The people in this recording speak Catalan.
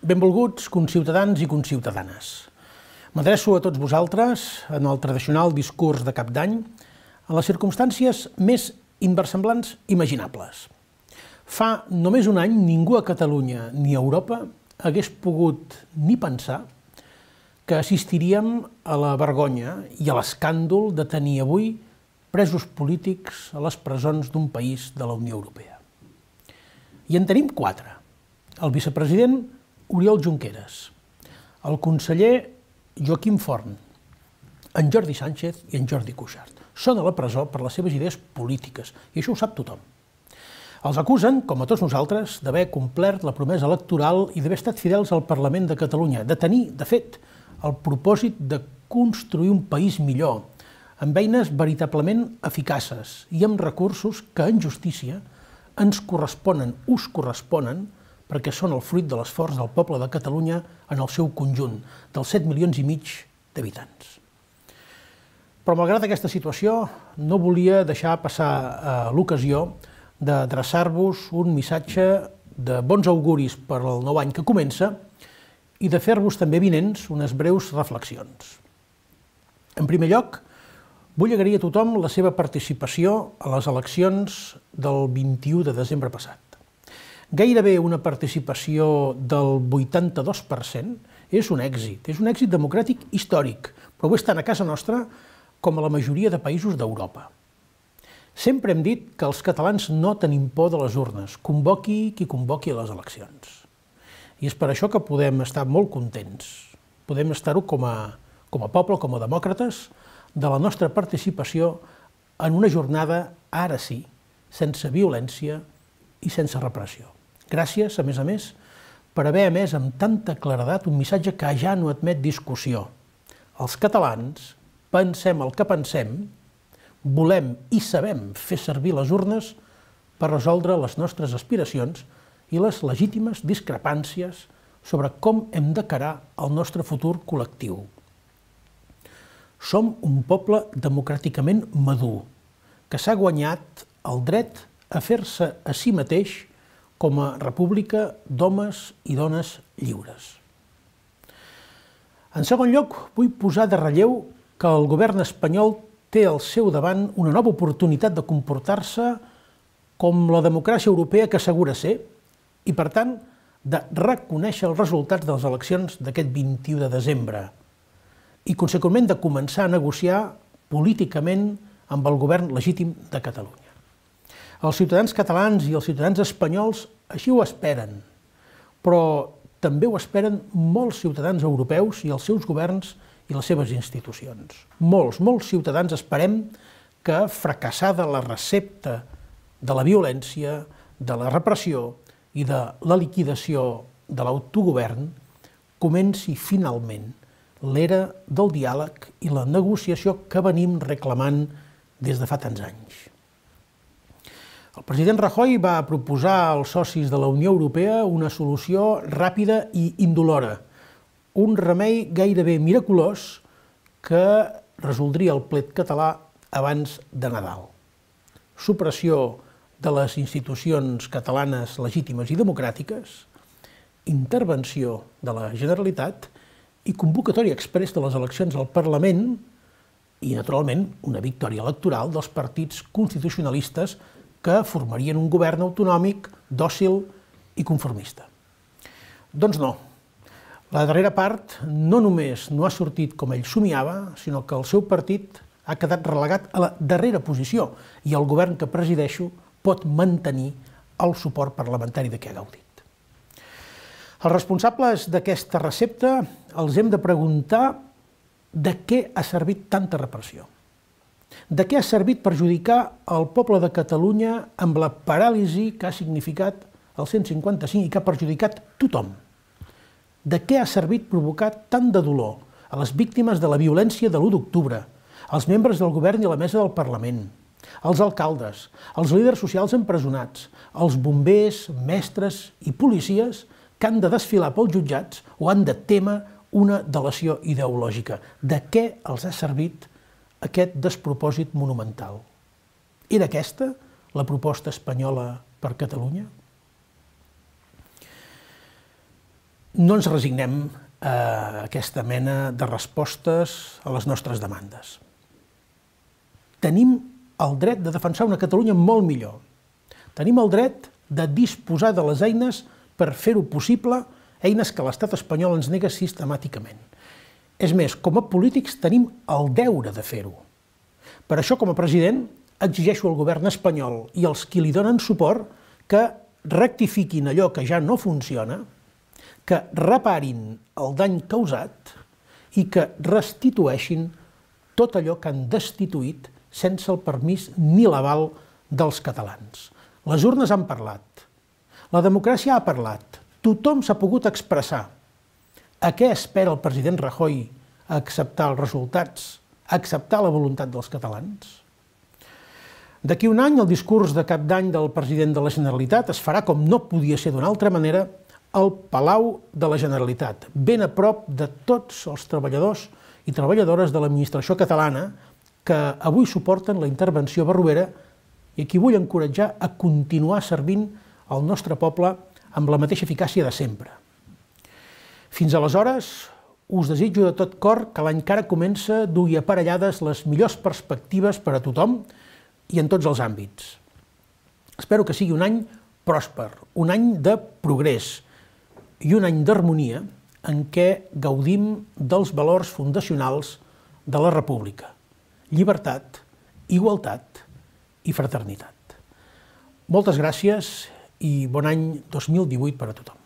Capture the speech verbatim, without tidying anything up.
Benvolguts conciutadans i conciutadanes. M'adreço a tots vosaltres en el tradicional discurs de cap d'any en les circumstàncies més inversemblants imaginables. Fa només un any ningú a Catalunya ni a Europa hagués pogut ni pensar que assistiríem a la vergonya i a l'escàndol de tenir avui presos polítics a les presons d'un país de la Unió Europea. I en tenim quatre. El vicepresident Oriol Junqueras, el conseller Joaquim Forn, en Jordi Sánchez i en Jordi Cuixart. Són a la presó per les seves idees polítiques, i això ho sap tothom. Els acusen, com a tots nosaltres, d'haver complert la promesa electoral i d'haver estat fidels al Parlament de Catalunya, de tenir, de fet, el propòsit de construir un país millor, amb eines veritablement eficaces i amb recursos que, en justícia, ens corresponen, us corresponen, perquè són el fruit de l'esforç del poble de Catalunya en el seu conjunt, dels set milions i mig d'habitants. Però, malgrat aquesta situació, no volia deixar passar l'ocasió d'adreçar-vos un missatge de bons auguris per al nou any que comença i de fer-vos també vinents unes breus reflexions. En primer lloc, vull agrair a tothom la seva participació a les eleccions del vint-i-u de desembre passat. Gairebé una participació del vuitanta-dos per cent és un èxit, és un èxit democràtic històric, però ho és tant a casa nostra com a la majoria de països d'Europa. Sempre hem dit que els catalans no tenim por de les urnes, convoqui qui convoqui a les eleccions. I és per això que podem estar molt contents, podem estar-ho com a, com a poble, com a demòcrates, de la nostra participació en una jornada, ara sí, sense violència i sense repressió. Gràcies, a més a més, per haver emès amb tanta claredat un missatge que ja no admet discussió. Els catalans pensem el que pensem, volem i sabem fer servir les urnes per resoldre les nostres aspiracions i les legítimes discrepàncies sobre com hem d'encarar el nostre futur col·lectiu. Som un poble democràticament madur, que s'ha guanyat el dret a fer-se a si mateix com a república d'homes i dones lliures. En segon lloc, vull posar de relleu que el govern espanyol té al seu davant una nova oportunitat de comportar-se com la democràcia europea que assegura ser i, per tant, de reconèixer els resultats de les eleccions d'aquest vint-i-u de desembre i, conseqüentment, de començar a negociar políticament amb el govern legítim de Catalunya. Els ciutadans catalans i els ciutadans espanyols així ho esperen, però també ho esperen molts ciutadans europeus i els seus governs i les seves institucions. Molts, molts ciutadans esperem que, fracassada la recepta de la violència, de la repressió i de la liquidació de l'autogovern, comenci finalment l'era del diàleg i la negociació que venim reclamant des de fa tants anys. El president Rajoy va proposar als socis de la Unió Europea una solució ràpida i indolora, un remei gairebé miraculós que resoldria el plet català abans de Nadal. Supressió de les institucions catalanes legítimes i democràtiques, intervenció de la Generalitat i convocatòria exprés de les eleccions al Parlament i, naturalment, una victòria electoral dels partits constitucionalistes que formarien un govern autonòmic, dòcil i conformista. Doncs no. La darrera part no només no ha sortit com ell somiava, sinó que el seu partit ha quedat relegat a la darrera posició i el govern que presideixo pot mantenir el suport parlamentari de què ha gaudit. Els responsables d'aquesta recepta els hem de preguntar de què ha servit tanta repressió. De què ha servit perjudicar el poble de Catalunya amb la paràlisi que ha significat el cent cinquanta cinc i que ha perjudicat tothom? De què ha servit provocar tant de dolor a les víctimes de la violència de l'u d'octubre, als membres del govern i a la mesa del Parlament, als alcaldes, als líders socials empresonats, als bombers, mestres i policies que han de desfilar pels jutjats o han de témer una delació ideològica? De què els ha servit aquest despropòsit monumental? Era aquesta la proposta espanyola per Catalunya? no ens resignem a aquesta mena de respostes a les nostres demandes. Tenim el dret de defensar una Catalunya molt millor. Tenim el dret de disposar de les eines per fer-ho possible, eines que l'estat espanyol ens nega sistemàticament. És més, com a polítics tenim el deure de fer-ho. Per això, com a president, exigeixo al govern espanyol i als qui li donen suport que rectifiquin allò que ja no funciona, que reparin el dany causat i que restitueixin tot allò que han destituït sense el permís ni l'aval dels catalans. Les urnes han parlat, la democràcia ha parlat, tothom s'ha pogut expressar. A què espera el president Rajoy a acceptar els resultats, a acceptar la voluntat dels catalans? D'aquí un any, el discurs de cap d'any del president de la Generalitat es farà, com no podia ser d'una altra manera, al Palau de la Generalitat, ben a prop de tots els treballadors i treballadores de l'administració catalana que avui suporten la intervenció barroera i a qui vull encoratjar a continuar servint el nostre poble amb la mateixa eficàcia de sempre. Fins aleshores, us desitjo de tot cor que l'any que ara comença dugui aparellades les millors perspectives per a tothom i en tots els àmbits. Espero que sigui un any pròsper, un any de progrés i un any d'harmonia en què gaudim dels valors fundacionals de la República: llibertat, igualtat i fraternitat. Moltes gràcies i bon any dos mil divuit per a tothom.